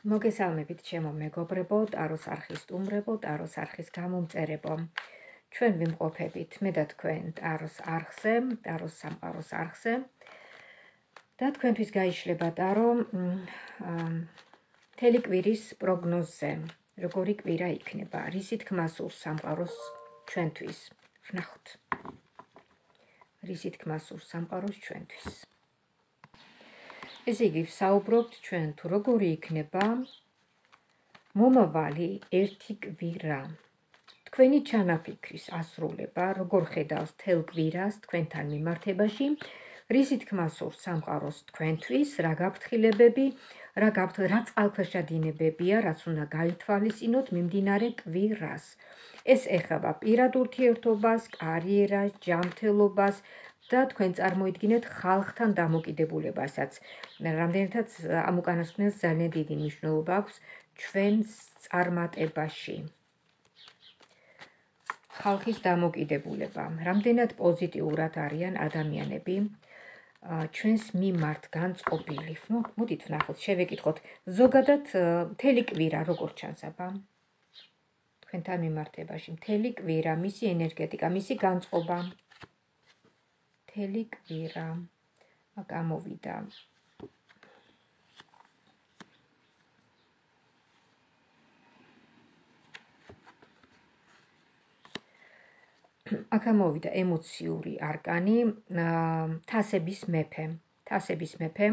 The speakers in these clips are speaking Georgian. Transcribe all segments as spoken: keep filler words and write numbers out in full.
მოგესალმებით ჩემო მეგობრებო, ტაროს არხის სტუმრებო, ტაროს არხის გამომწერებო. ჩვენ ვიმყოფებით მე და თქვენ ტაროს არხზე, ტაროს სამყაროს არხზე. და თქვენთვის გაიშლება ტარო მთელი კვირის პროგნოზზე. როგორი კვირა იქნება, რისი თქმა სურს სამყაროს ჩვენთვის. ვნახოთ. რისი თქმა სურს სამყაროს ჩვენთვის. ესე იგი, ვსაუბრობთ ჩვენ თუ როგორი იქნება მომავალი ერთი კვირა. თქვენი ჩანაფიქრის ასრულება, როგორ ხედავს თელ კვირას თქვენთან მიმართებაში, რისი თქმა სურს სამყაროს თქვენთვის, რა გაფრთხილებები, რა რა წყალქვეშა დინებებია, რაც უნდა გაითვალისწინოთ მიმდინარე კვირას. ეს ეხება პირად ურთიერთობას, კარიერას, ჯანმრთელობას და თქვენ წარმოიდგინეთ ხალხთან დამოკიდებულებასაც. რამდენადაც ამ უკანასკნელს ძალიან დიდი მნიშვნელობა აქვს ჩვენს წარმატებაში. ხალხის დამოკიდებულება. რამდენად პოზიტიურად არიან ადამიანები ჩვენს მიმართ განწყობილი. მოდით ვნახოთ, შევეკითხოთ ზოგადად მთელი კვირა როგორ ჩანს აბა თქვენთან მიმართებაში. მთელი კვირა, მისი ენერგეტიკა, მისი განწყობა. მთელი კვირა გამოვიდა. აქ გამოვიდა ემოციური არკანი, თასების მეფე. თასების მეფე,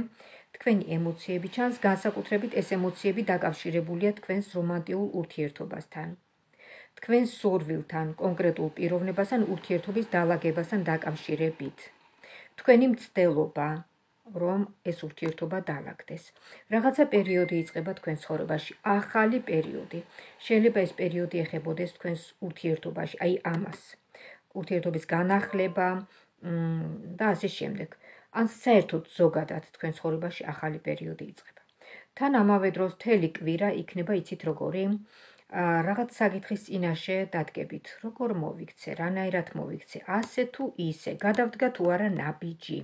თქვენი ემოციები ჩანს, განსაკუთრებით ეს ემოციები დაკავშირებულია თქვენს რომანტიულ ურთიერთობასთან. თქვენს სურვილთან, კონკრეტულ პიროვნებასთან, ურთიერთობის დალაგებასთან დაკავშირებით. თქვენი მცდელობა, რომ ეს ურთიერთობა დალაგდეს. რაღაცა პერიოდი იწყება თქვენს ცხოვრებაში, ახალი პერიოდი. შეიძლება ეს პერიოდი ეხებოდეს თქვენს ურთიერთობაში, აი ამას. ურთიერთობის განახლება და ასე შემდეგ. ან საერთოდ ზოგადად თქვენ ცხოვრებაში ახალი პერიოდი იწყება. თან ამავე დროს მთელი კვირა იქნება, იცით როგორი, რაღაც საკითხის წინაშე დადგებით, როგორ მოვიქცე, რანაირად მოვიქცე, ასე თუ ისე, გადავდგა თუ არა ნაბიჯი.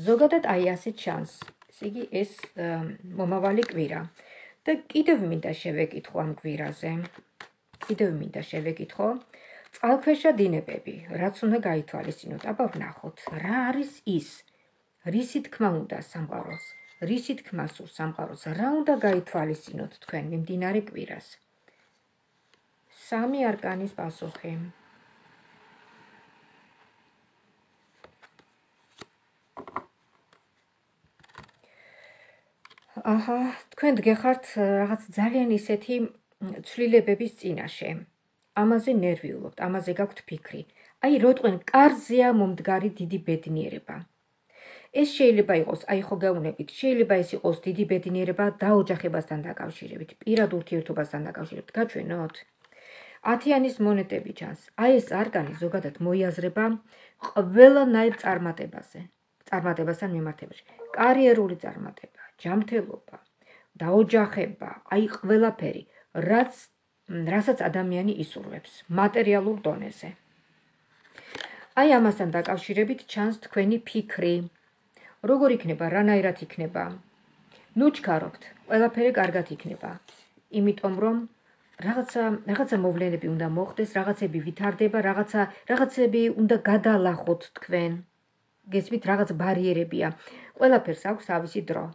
ზოგადად აი ასე ჩანს. ესე იგი, ეს მომავალი კვირა. და კიდევ მინდა შევეკითხო ამ კვირაზე. კიდევ მინდა შევეკითხო წყალქვეშა დინებები, რაც უნდა გაითვალისწინოთ. აბა ვნახოთ, რა არის ის, რისი თქმა უნდა სამყაროს, რისი თქმა სურს სამყაროს, რა უნდა გაითვალისწინოთ თქვენ მიმდინარე კვირას. სამი არკანის პასუხი. აჰა, თქვენ დგეხართ რაღაც ძალიან ისეთი ცვლილებების წინაშე. ამაზე ნერვიულობთ, ამაზე გაქვთ ფიქრი. აი, როტყვენ კარზეა მომდგარი დიდი ბედნიერება. ეს შეიძლება იყოს, აი ხო გეუბნებით, შეიძლება ეს იყოს დიდი ბედნიერება დაოჯახებასთან დაკავშირებით, პირად ურთიერთობასთან დაკავშირებით. გაჩვენოთ? ათიანის მონეტები ჩანს. აი ეს არკანი ზოგადად მოიაზრება ყველანაირ წარმატებაზე, წარმატებასთან მიმართებაში. კარიერული წარმატება, ჯანმრთელობა, დაოჯახება, აი ყველაფერი, რაც რასაც ადამიანი ისურვებს მატერიალურ დონეზე. აი ამასთან დაკავშირებით ჩანს თქვენი ფიქრი. როგორ იქნება, რანაირად იქნება? ნუ ჩქარობთ, ყველაფერი კარგად იქნება. იმიტომ რომ რაღაცა რაღაცა მოვლენები უნდა მოხდეს, რაღაცები ვითარდება, რაღაცა რაღაცები უნდა გადალახოთ თქვენ. გესმით, რაღაც ბარიერებია. ყველაფერს აქვს თავისი დრო.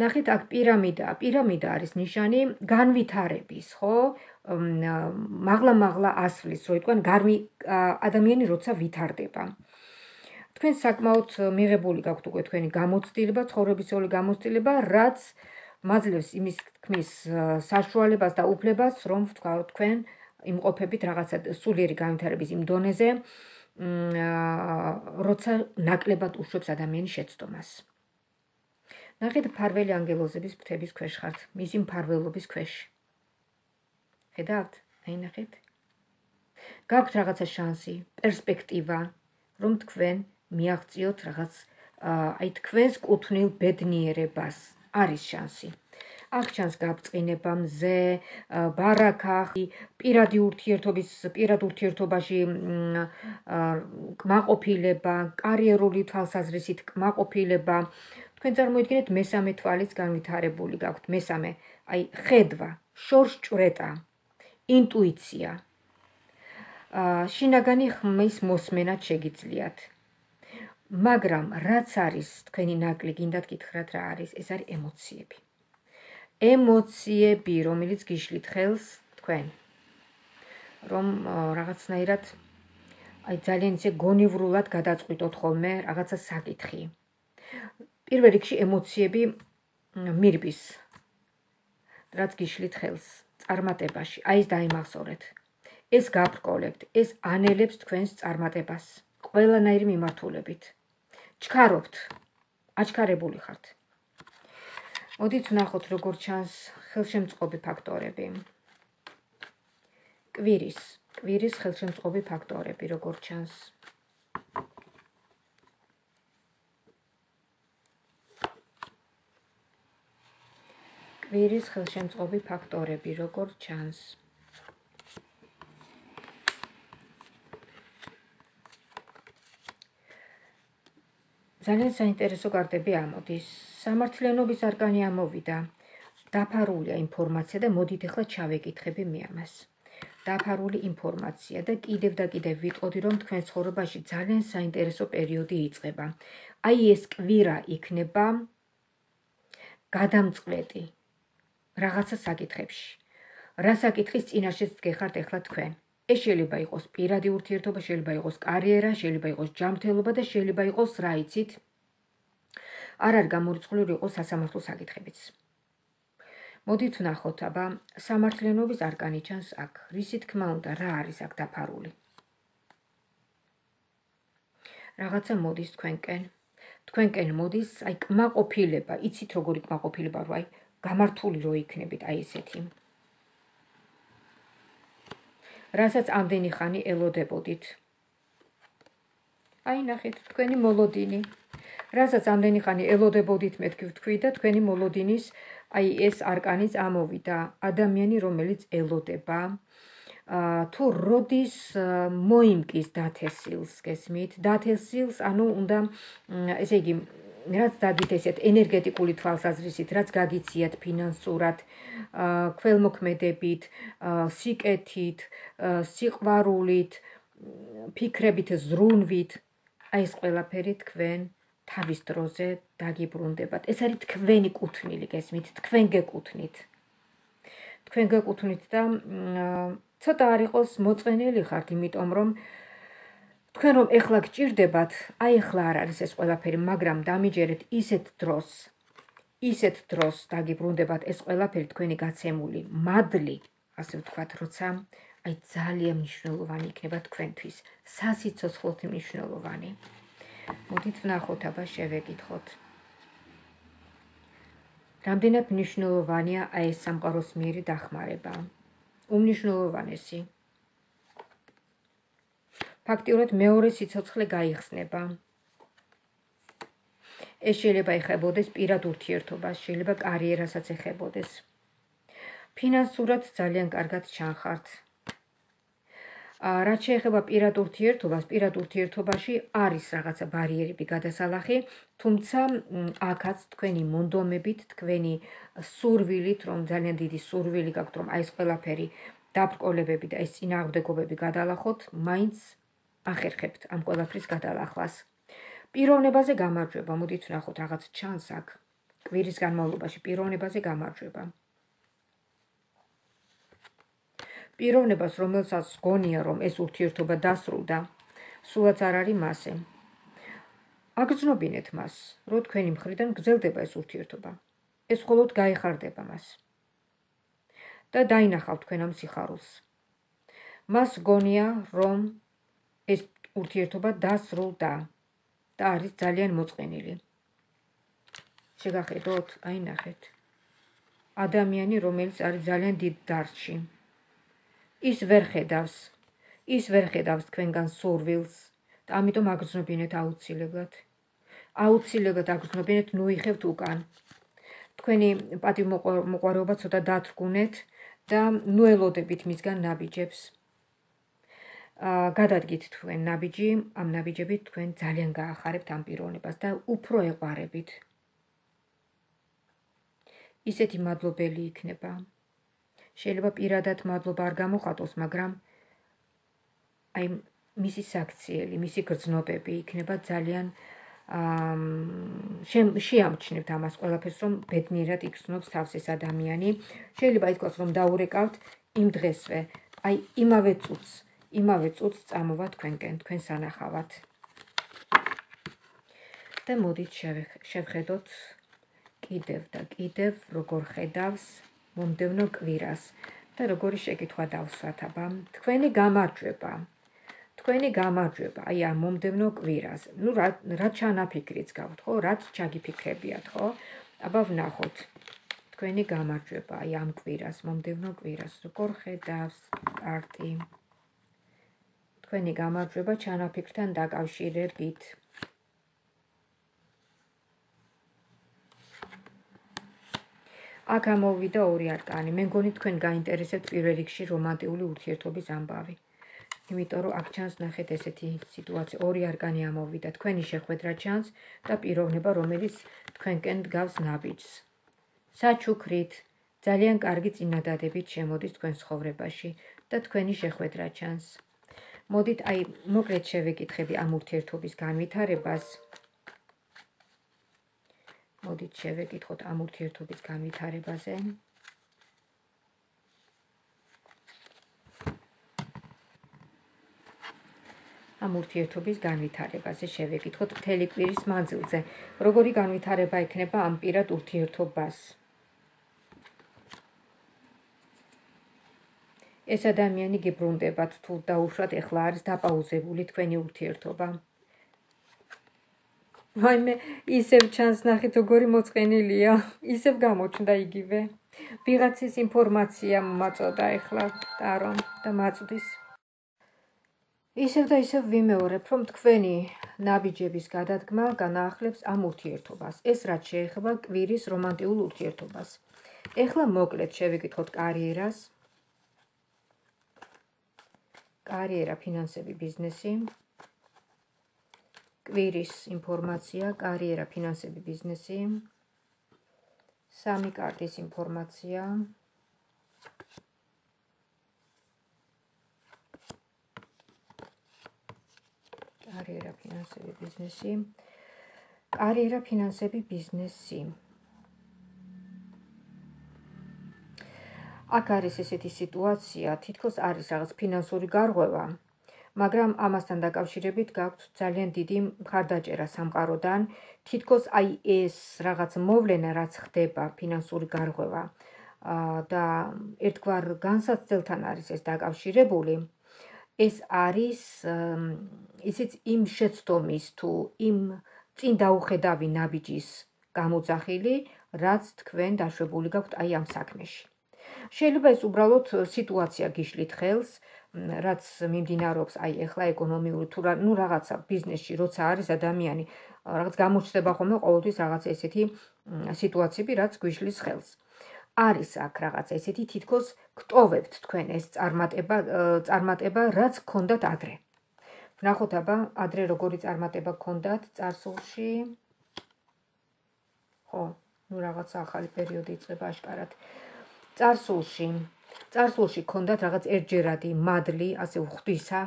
ნახეთ, აქ პირამიდა, პირამიდა არის ნიშანი განვითარების, ხო? მაღლა-მაღლა ასვლის, რო იტყვიან, გარმი ადამიანი როცა ვითარდება. თქვენ საკმაოდ მიღებული გაქვთ უკვე თქვენი გამოცდილება, ცხოვრებისეული გამოცდილება, რაც მაძლევს იმის თქმის საშუალებას და უფლებას, რომ ვთქვათ, თქვენ იმყოფებით რაღაცა სულიერი განვითარების იმ დონეზე, როცა ნაკლებად უშვებს ადამიანის შეცდომას. ნახეთ, მფარველი ანგელოზების ფრთების ქვეშ ხართ, მისი მფარველობის ქვეშ. ხედავთ? აი ნახეთ. გაქვთ რაღაცა შანსი, პერსპექტივა, რომ თქვენ მიაღწიოთ რაღაც აი თქვენს კუთვნილ ბედნიერებას. არის შანსი. აქ ჩანს გაბრწყინება, მზე, ბარაქა, პირადი ურთიერთობის, პირად ურთიერთობაში კმაყოფილება, კარიერული თვალსაზრისით კმაყოფილება, თქვენ წარმოიდგინეთ მესამე თვალიც განვითარებული გაქვთ, მესამე, აი ხედვა, შორსჭვრეტა, ინტუიცია, შინაგანი ხმის მოსმენად შეგიძლიათ. მაგრამ რაც არის თქვენი ნაკლი, გინდათ გითხრათ რა არის, ეს არის ემოციები. ემოციები, რომელიც გიშლით ხელს თქვენ, რომ რაღაცნაირად აი ძალიან ისე გონივრულად გადაწყვიტოთ ხოლმე რაღაცა საკითხი. პირველ რიგში ემოციები მირბის, რაც გიშლით ხელს წარმატებაში, აი ეს დაიმახსოვრეთ. ეს გაბრკოლებთ, ეს ანელებს თქვენს წარმატებას, ყველანაირი მიმართულებით. ჩქარობთ, აჩქარებული ხართ. მოდით ვნახოთ, როგორ ჩანს ხელშემწყობი ფაქტორები. კვირის, კვირის ხელშემწყობი ფაქტორები, როგორ ჩანს. კვირის ხელშემწყობი ფაქტორები, როგორ ჩანს. ძალიან საინტერესო კარტები ამოდის. სამართლიანობის არკანი ამოვიდა. დაფარულია ინფორმაცია და მოდით ახლა ჩავეკითხები მე ამას. დაფარული ინფორმაცია და კიდევ და კიდევ ვიტყოდი, რომ თქვენ ცხოვრებაში ძალიან საინტერესო პერიოდი იწყება. აი ეს კვირა იქნება გადამწყვეტი რაღაცა საკითხებში. რა საკითხის წინაშეც დგეხართ ახლა თქვენ. ეს შეიძლება იყოს პირადი ურთიერთობა, შეიძლება იყოს კარიერა, შეიძლება იყოს ჯანმრთელობა და შეიძლება იყოს რა იცით, არ არის გამორიცხული იყოს სასამართლო საკითხებიც. მოდით ვნახოთ, აბა სამართლიანობის არკანი ჩანს აქ. რისი თქმა უნდა, რა არის აქ დაფარული? რაღაცა მოდის თქვენკენ. თქვენკენ მოდის აი კმაყოფილება, იცით როგორი კმაყოფილება რო აი გამართული რო იქნებით აი ესეთი. რასაც ამდენი ხანი ელოდებოდით. აი ნახეთ, თქვენი მოლოდინი. რასაც ამდენი ხანი ელოდებოდით, მეთქი ვთქვი და თქვენი მოლოდინის აი ეს არკანიც ამოვიდა. ადამიანი, რომელიც ელოდება, თუ როდის მოიმკის დათესილს, გესმით? დათესილს, ანუ უნდა, ესე იგი, რაც დადით ესეთ ენერგეტიკული თვალსაზრისით, რაც გაგიციათ ფინანსურად, ქველმოქმედებით, სიკეთით, სიყვარულით, ფიქრებით, ზრუნვით, აი ეს ყველაფერი თქვენ თავის დროზე დაგიბრუნდებათ. ეს არის თქვენი კუთვნილი, გესმით? თქვენ გეკუთვნით. თქვენ გეკუთვნით და ცოტა არ იყოს მოწყენილი ხართ, იმიტომ რომ თქვენ რომ ეხლა გჭირდებათ, აი ეხლა არ არის ეს ყველაფერი, მაგრამ დამიჯერეთ ისეთ დროს, ისეთ დროს დაგიბრუნდებათ ეს ყველაფერი თქვენი გაცემული მადლი, ასე ვთქვათ, როცა აი ძალიან მნიშვნელოვანი იქნება თქვენთვის, სასიცოცხლოდ მნიშვნელოვანი. მოდით ვნახოთ, აბა შევეკითხოთ. რამდენად მნიშვნელოვანია აი ეს სამყაროს მიერი დახმარება? უმნიშვნელოვანესი. ფაქტიურად მეორე სიცოცხლე გაიხსნება. ეს შეიძლება ეხებოდეს პირად ურთიერთობას, შეიძლება კარიერასაც ეხებოდეს. ფინანსურად ძალიან კარგად ჩანხართ. რაც შეეხება პირად ურთიერთობას, პირად ურთიერთობაში არის რაღაცა ბარიერები გადასალახი, თუმცა აქაც თქვენი მონდომებით, თქვენი სურვილით, რომ ძალიან დიდი სურვილი გაქვთ, რომ აი ეს ყველაფერი დაბრკოლებები და ეს წინააღმდეგობები გადალახოთ, მაინც ახერხებთ ამ ყველაფრის გადალახვას. პიროვნებაზე გამარჯვება, მოდით ვნახოთ, რაღაც ჩანს აქ. კვირის განმავლობაში პიროვნებაზე გამარჯვება. პიროვნებას, რომელსაც გონია, რომ ეს ურთიერთობა დასრულდა, სულაც არ არის მასე. აგრძნობინეთ მას, რომ თქვენი მხრიდან გრძელდება ეს ურთიერთობა. ეს მხოლოდ გაეხარდება მას. და დაინახავთ თქვენ ამ სიხარულს. მას გონია, რომ ეს ურთიერთობა დასრულდა და არის ძალიან მოწყენილი. შეგახედოთ, აი ნახეთ. ადამიანი, რომელიც არის ძალიან დიდ დარდში. ის ვერ ხედავს, ის ვერ ხედავს თქვენგან სურვილს და ამიტომ აგრძნობინეთ აუცილებლად. აუცილებლად აგრძნობინეთ, ნუ იხევთ უკან. თქვენი პატივმოყვარეობა ცოტა დათრგუნეთ და ნუ ელოდებით მისგან ნაბიჯებს. გადადგით თქვენ ნაბიჯი, ამ ნაბიჯებით თქვენ ძალიან გაახარებთ ამ პიროვნებას და უფრო ეყვარებით. ისეთი მადლობელი იქნება. შეიძლება პირადად მადლობა არ გამოხატოს, მაგრამ აი მისი საქციელი, მისი გრძნობები იქნება ძალიან შეამჩნევთ ამას ყველაფერს, რომ ბედნიერად იგრძნობს თავს ეს ადამიანი. შეიძლება ითქვას, რომ დაურეკავთ იმ დღესვე, აი იმავე წუთს, იმავე წუთს წამოვა თქვენკენ, თქვენ სანახავად. და მოდით შევხედოთ კიდევ და კიდევ როგორ ხედავს მომდევნო კვირას და როგორი შეკითხვა დავსვათ აბა. თქვენი გამარჯვება. თქვენი გამარჯვება, აი ამ მომდევნო კვირას. ნუ რა ჩანაფიქრიც გაქვთ, ხო? რაც ჩაგიფიქრებიათ, ხო? აბა ვნახოთ. თქვენი გამარჯვება, აი ამ კვირას, მომდევნო კვირას, როგორ ხედავს კარტი. თქვენი გამარჯვება ჩანაფიქრთან დაკავშირებით. აქ ამოვიდა ორი არკანი. მე მგონი თქვენ გაინტერესებთ პირველ რიგში რომანტიული ურთიერთობის ამბავი. იმიტომ რომ აქ ჩანს ნახეთ ესეთი სიტუაცია, ორი არკანი ამოვიდა, თქვენი შეხვედრა ჩანს და პიროვნება, რომელიც თქვენკენ დგავს ნაბიჯს. საჩუქრით, ძალიან კარგი წინადადებით შემოდის თქვენ ცხოვრებაში და თქვენი შეხვედრა ჩანს. მოდით აი მოკლედ შევეკითხები ამ ურთიერთობის განვითარებას. მოდით შევეკითხოთ ამ ურთიერთობის განვითარებაზე. ამ ურთიერთობის განვითარებაზე შევეკითხოთ მთელი კვირის მანძილზე. როგორი განვითარება ექნება ამ პირად ურთიერთობას? ეს ადამიანი გიბრუნდებათ თუ დაუშვათ ეხლა არის დაპაუზებული თქვენი ურთიერთობა. ვაიმე, ისევ ჩანს ნახეთ როგორი მოწყენილია, ისევ გამოჩნდა იგივე. ვიღაცის ინფორმაცია მომაწოდა ეხლა ტარო და მაწვდის. ისევ და ისევ ვიმეორებ, რომ თქვენი ნაბიჯების გადადგმა განაახლებს ამ ურთიერთობას. ეს რაც შეეხება კვირის რომანტიულ ურთიერთობას. ეხლა მოკლედ შევეკითხოთ კარიერას. კარიერა, ფინანსები, ბიზნესი. კვირის ინფორმაცია, კარიერა, ფინანსები, ბიზნესი. სამი კარტის ინფორმაცია. კარიერა, ფინანსები, ბიზნესი. კარიერა, ფინანსები, ბიზნესი. აქ არის ესეთი სიტუაცია, თითქოს არის რაღაც ფინანსური გარღვევა, მაგრამ ამასთან დაკავშირებით გაქვთ ძალიან დიდი მხარდაჭერა სამყაროდან, თითქოს აი ეს რაღაც მოვლენა, რაც ხდება, ფინანსური გარღვევა და ერთგვარ განსაცდელთან არის ეს დაკავშირებული, ეს არის ისიც იმ შეცდომის თუ იმ წინ დაუხედავი ნაბიჯის გამოძახილი, რაც თქვენ დაშვებული გაქვთ აი ამ საქმეში. შეიძლება ეს უბრალოდ სიტუაცია გიშლით ხელს, რაც მიმდინარეობს აი ეხლა ეკონომიური თუ ნუ რაღაცა ბიზნესში, როცა არის ადამიანი, რაღაც გამოჩნდება ხოლმე ყოველთვის რაღაც ესეთი სიტუაციები, რაც გვიშლის ხელს. არის აქ რაღაც ესეთი თითქოს გტოვებთ თქვენ ეს წარმატება, წარმატება, რაც გქონდათ ადრე. ვნახოთ აბა, ადრე როგორი წარმატება გქონდათ წარსულში. ხო, ნუ რაღაცა ახალი პერიოდი იწყება აშკარად. წარსულში, წარსულში გქონდათ რაღაც ერთჯერადი მადლი, ასე ღვთისა,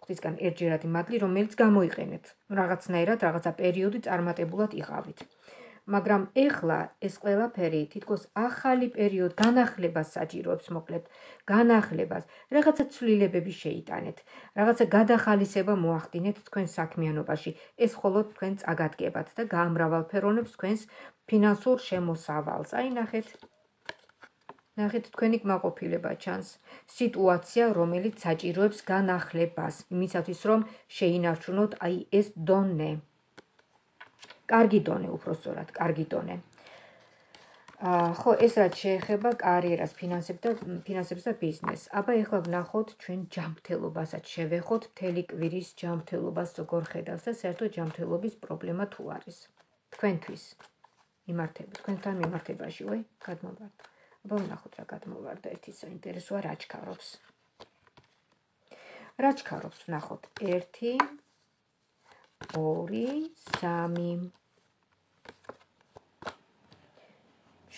ღვთისგან ერთჯერადი მადლი, რომელიც გამოიყენეთ. რაღაცნაირად რაღაცა პერიოდი წარმატებულად იყავით. მაგრამ ეხლა ეს ყველაფერი თითქოს ახალი პერიოდი განახლებას საჭიროებს, მოკლედ, განახლებას, რაღაცა ცვლილებები შეიტანეთ, რაღაცა გადახალისება მოახდინეთ თქვენ საქმიანობაში. ეს მხოლოდ თქვენ წაგადგებათ და გაამრავალფეროვნებს თქვენს ფინანსურ შემოსავალს. აი ნახეთ. ნახეთ, თქვენი კმაყოფილება ჩანს. სიტუაცია, რომელიც საჭიროებს განახლებას, იმისათვის, რომ შეინარჩუნოთ აი ეს დონე. კარგი დონე, უпростоრად, კარგი დონე. ხო, ეს რაც შეეხება კარიერას, ფინანსებს და ბიზნესს. აბა ეხლა ვნახოთ ჩვენ ჯანმრთელობასაც შევეხოთ, მთელი კვირის ჯანმრთელობას როგორ ხედავს და საერთოდ ჯანმრთელობის პრობლემა თუ არის. თქვენთვის მიმართება, თქვენთან მიმართებაში, ვაი, გადმოვარდა. აბა ვნახოთ რა გადმოვარდა, ერთი საინტერესოა რა ჩქარობს. რა ჩქარობს, ვნახოთ, ერთი, ორი, სამი.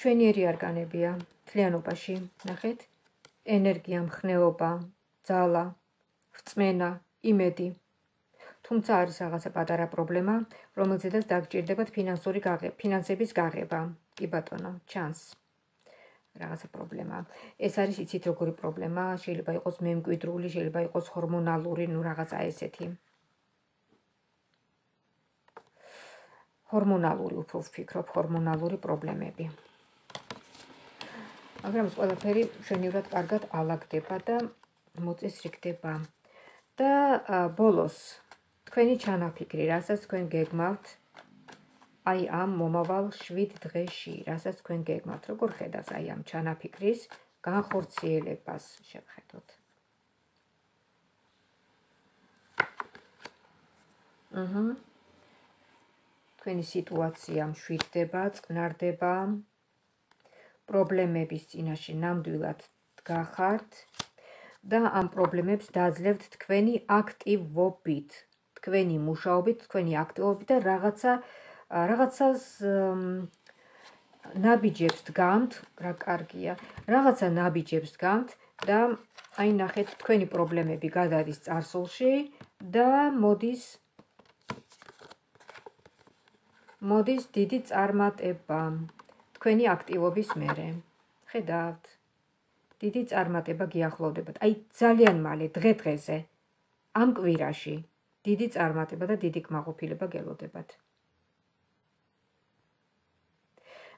მშვენიერი არკანებია მთლიანობაში, ნახეთ, ენერგია, მხნეობა, ძალა, რწმენა, იმედი. თუმცა არის რაღაცა პატარა პრობლემა, რომელზედაც დაგჭირდებათ ფინანსური გაღება, ფინანსების გაღება. კი ბატონო, ჩანს. რაღაცა პრობლემა. ეს არის იცით როგორი პრობლემა, შეიძლება იყოს მემკვიდრული, შეიძლება იყოს ჰორმონალური, ნუ რაღაცა ესეთი. ჰორმონალური უფრო ვფიქრობ, ჰორმონალური პრობლემები. მაგრამ ეს ყველაფერი მშვენივრად კარგად ალაგდება და მოწესრიგდება. და ბოლოს თქვენი ჩანაფიქრი, რასაც თქვენ გეგმავთ, აი ამ მომავალ შვიდ დღეში, რასაც თქვენ გეგმავთ, როგორ ხედავს აი ამ ჩანაფიქრის განხორციელებას, შევხედოთ. აჰა. თქვენი სიტუაცია მშვიდდება, წყნარდება, პრობლემების წინაშე ნამდვილად დგახართ და ამ პრობლემებს დაძლევთ თქვენი აქტივობით, თქვენი მუშაობით, თქვენი აქტივობით და რაღაცა რაღაცას ნაბიჯებს დგამთ, რა კარგია, რაღაცა ნაბიჯებს დგამთ და აი ნახეთ, თქვენი პრობლემები გადადის წარსულში და მოდის მოდის დიდი წარმატება თქვენი აქტივობის მერე. ხედავთ? დიდი წარმატება გიახლოვდებათ. აი ძალიან მალე დღე-დღეზე ამ კვირაში დიდი წარმატება და დიდი კმაყოფილება გელოდებათ.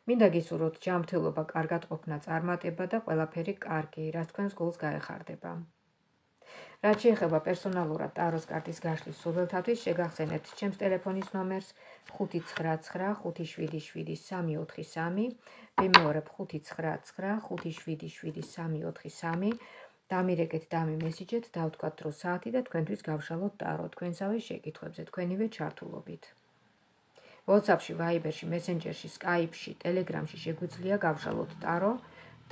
მინდა გისურვოთ ჯანმრთელობა, კარგად ყოფნა, წარმატება და ყველაფერი კარგი, რაც თქვენს გულს გაეხარდება. რაც შეეხება პერსონალურად ტაროს კარტის გაშლის სურვილთათვის, შეგახსენებთ ჩემს ტელეფონის ნომერს ხუთი ცხრა ცხრა ხუთი შვიდი შვიდი სამი ოთხი სამი, ვიმეორებ ხუთი ცხრა ცხრა ხუთი შვიდი შვიდი სამი ოთხი სამი, დამირეკეთ, დამიმესიჯეთ, დავთქვათ დრო საათი და თქვენთვის გავშალოთ ტარო თქვენსავე შეკითხვებზე, თქვენივე ჩართულობით. WhatsApp-ში, Viber-ში, Messenger-ში, Skype-ში, Telegram-ში შეგვიძლია გავშალოთ ტარო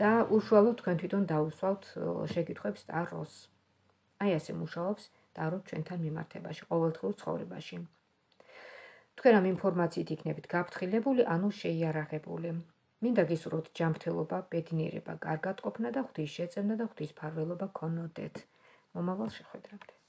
და უშუალოდ თქვენ თვითონ დაუსვავთ შეკითხვებს ტაროს. აი ასე მუშაობს ტარო ჩვენთან მიმართებაში, ყოველდღიურ ცხოვრებაში. თქვენ ამ ინფორმაციით იქნებით გაფრთხილებული, ანუ შეიარაღებული. მინდა გისურვოთ ჯანმრთელობა, ბედნიერება, კარგად ყოფნა და ღვთის შეწევნა და ღვთის მფარველობა გქონოდეთ. მომავალ შეხვედრამდე.